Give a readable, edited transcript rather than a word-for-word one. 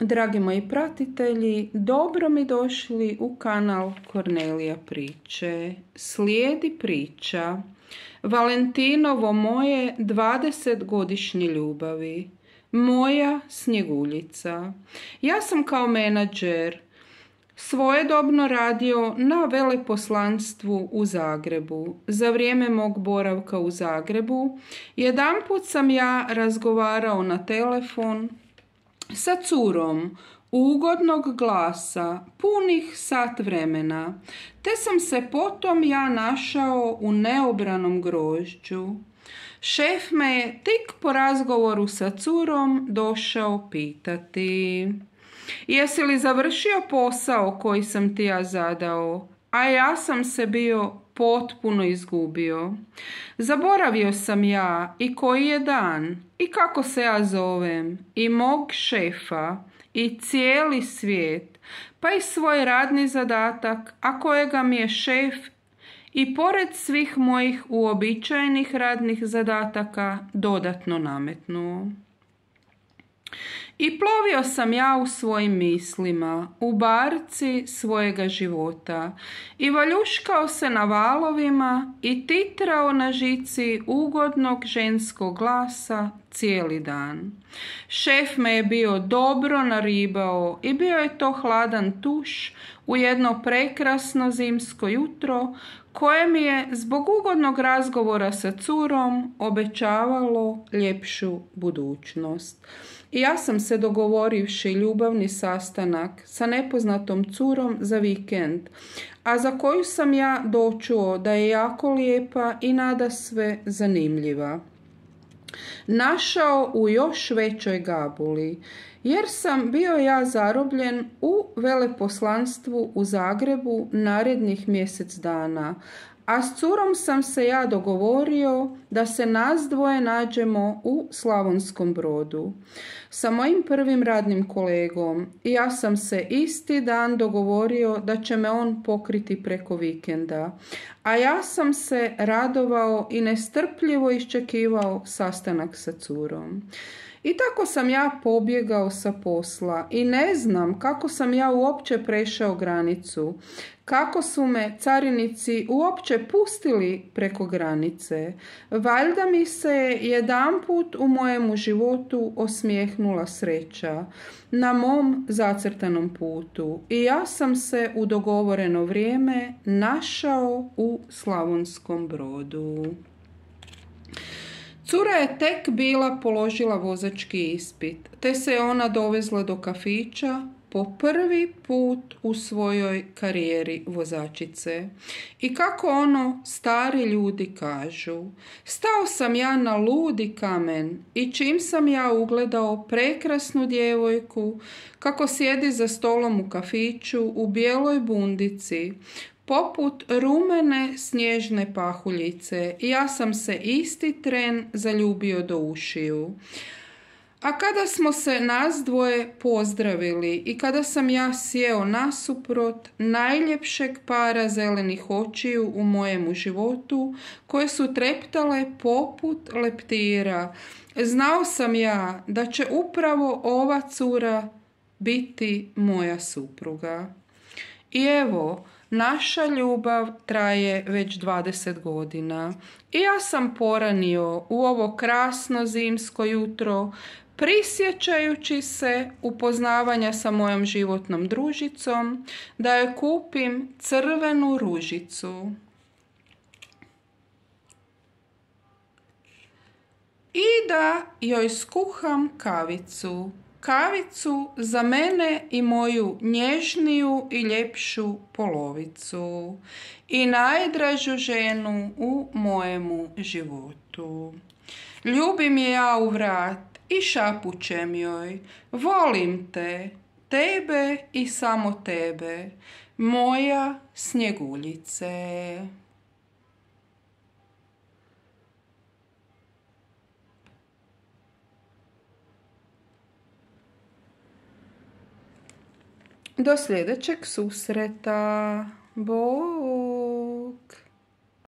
Dragi moji pratitelji, dobro mi došli u kanal Kornelija priče. Slijedi priča Valentinovo moje 20-godišnje ljubavi. Moja Snjeguljica. Ja sam kao menadžer svojedobno radio na veleposlanstvu u Zagrebu. Za vrijeme mog boravka u Zagrebu jedanput sam ja razgovarao na telefon sa curom ugodnog glasa punih sat vremena, te sam se potom ja našao u neobranom grožđu. Šef me je tik po razgovoru sa curom došao pitati: jesi li završio posao koji sam ti ja zadao? A ja sam se bio potpuno izgubio. Zaboravio sam ja i koji je dan, i kako se ja zovem, i mog šefa, i cijeli svijet, pa i svoj radni zadatak, a kojega mi je šef i pored svih mojih uobičajenih radnih zadataka dodatno nametnuo. I plovio sam ja u svojim mislima, u barci svojega života, i valjuškao se na valovima i titrao na žici ugodnog ženskog glasa cijeli dan. Šef me je bio dobro naribao i bio je to hladan tuš u jedno prekrasno zimsko jutro koje mi je zbog ugodnog razgovora sa curom obećavalo ljepšu budućnost. I ja sam se dogovorivši ljubavni sastanak sa nepoznatom curom za vikend, a za koju sam ja dočuo da je jako lijepa i nadasve zanimljiva, našao u još većoj gabuli, jer sam bio ja zarobljen u veleposlanstvu u Zagrebu narednih mjesec dana, a s curom sam se ja dogovorio da se nas dvoje nađemo u Slavonskom Brodu. Sa mojim prvim radnim kolegom ja sam se isti dan dogovorio da će me on pokriti preko vikenda, a ja sam se radovao i nestrpljivo iščekivao sastanak sa curom. I tako sam ja pobjegao sa posla i ne znam kako sam ja uopće prešao granicu, kako su me carinici uopće pustili preko granice. Valjda mi se jedanput u mojemu životu osmijehnula sreća na mom zacrtanom putu i ja sam se u dogovoreno vrijeme našao u Slavonskom Brodu. Cura je tek bila položila vozački ispit, te se je ona dovezla do kafića po prvi put u svojoj karijeri vozačice. I kako ono stari ljudi kažu, stao sam ja na ludi kamen i čim sam ja ugledao prekrasnu djevojku kako sjedi za stolom u kafiću u bijeloj bundici, poput rumene snježne pahuljice, ja sam se isti tren zaljubio do ušiju. A kada smo se nas dvoje pozdravili i kada sam ja sjeo nasuprot najljepšeg para zelenih očiju u mojemu životu, koje su treptale poput leptira, znao sam ja da će upravo ova cura biti moja supruga. I evo, naša ljubav traje već 20 godina i ja sam poranio u ovo krasno zimsko jutro, prisjećajući se upoznavanja sa mojom životnom družicom, da joj kupim crvenu ružicu i da joj skuham kavicu. Kavicu za mene i moju nježniju i ljepšu polovicu i najdražu ženu u mojemu životu. Ljubim je ja u vrat i šapućem joj: volim te, tebe i samo tebe, moja Snjeguljice. Do sljedećeg susreta. Bog.